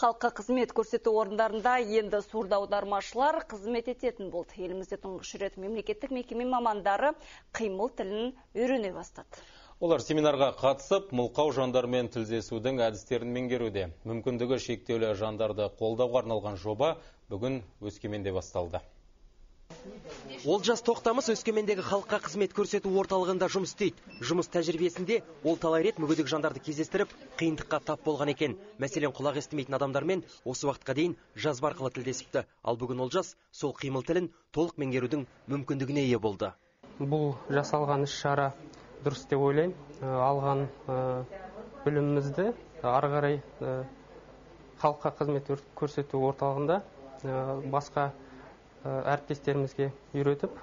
Халыққа қызмет көрсету орындарында енді сурда аудармашылар қызмет ететін болды. Елімізде тұңғыш рет мемлекеттік мекеме мамандары қимыл тілін үйрене бастады. Олар семинарға қатысып, мылқау жандармен тілдесудің әдістерін меңгеруде. Мүмкіндігі шектеулі жандарды қолдауға арналған жоба бүгін Өскеменде басталды. Олжас Тоқтамыс Өскемендегі халыққа қызмет көрсету орталығында жұмыс істейді. Жұмыс тәжірибесінде ол талай рет мүгедек жандарды кездестіріп, қиындыққа тап болған екен. Мәселен, құлақ естімейтін адамдармен осы уақытқа дейін жазба арқылы тілдесіпті. Ал бүгін Олжас сол қимыл тілін толық меңгерудің мүмкіндігіне ие болды. Бұл жасалған іс-шара дұрыс деп ойлаймын. Алған білімімізді ары қарай халыққа қызмет көрсету орталығында басқа әріптестерімізге үйретіп,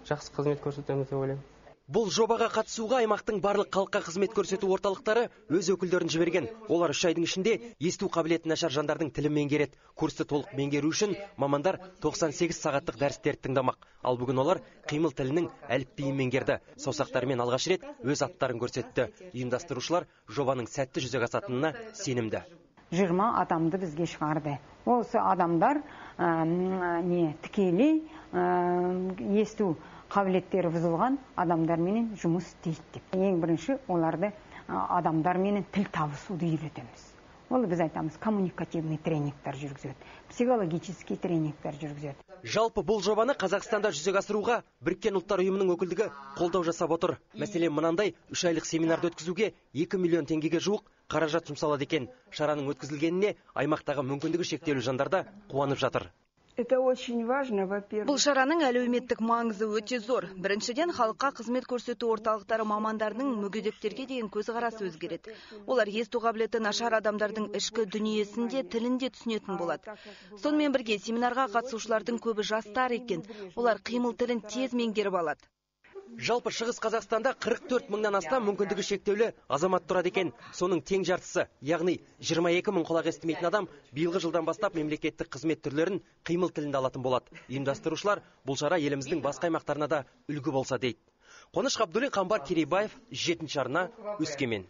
жақсы қызмет көрсетеміз деп ойлаймын. Бұл жобаға қатысуға аймақтың барлық халыққа қызмет көрсету орталықтары өз өкілдерін жіберген. Олар 3 айдың ішінде есту қабілеті нашар жандардың тілін меңгереді. Курсты толық меңгеру үшін мамандар 98 сағаттық дәрістерді тыңдамақ. Ал бүгін олар қимыл тілінің әліпбиін меңгерді. Саусақтарымен алғаш рет өз аттарын көрсетті. Ұйымдастырушылар жобаның сәтті жүзеге асатынына сенімді. 20 адамды бізге шығарды. Осы адамдар тікелей есту қабілеттері бұзылған адамдармен жұмыс істейді деп. Ең бірінші оларды адамдармен тіл табысуды үйретеміз. Ол біз айтамыз, коммуникативный тренингтер жүргізеді, психологический тренингтер жүргізеді. Жалпы бұл жобаны Қазақстанда жүзеге асыруға Біріккен ұлттар ұйымының өкілдігі қолдау жасап отыр. Мәселен, мынандай 3 айлық семинарды өткізуге 2 миллион теңгеге жуық қаражат жұмсалады екен. Шараның өткізілгеніне аймақтағы мүмкіндігі шектеулі жандарда қуанып жатыр. Бұл шараның әлеуметтік маңызы өте зор. Біріншіден, халыққа қызмет көрсету орталықтары мамандарының мүгедектерге деген көзқарасы өзгереді. Олар есту қабілеті нашар адамдардың ішкі дүниесінде, тілінде түсінетін болады. Сонымен бірге семинарға қатысушылардың көбі жастар екен. Олар қимыл тілін тез меңгеріп алады. Жалпы Шығыс Қазақстанда 44 мыңнан астам мүмкіндігі шектеулі азамат тұрады екен. Соның тең жартысы, яғни 22 мың құлақ естімейтін адам биылғы жылдан бастап мемлекеттік қызмет түрлерін қимыл тілінде алатын болады. Ұйымдастырушылар бұл шара еліміздің басқа аймақтарына да үлгі болса дейді. Қоныш Ғабдуллин, Қамбар Керейбаев, 7 арна, Өскемен.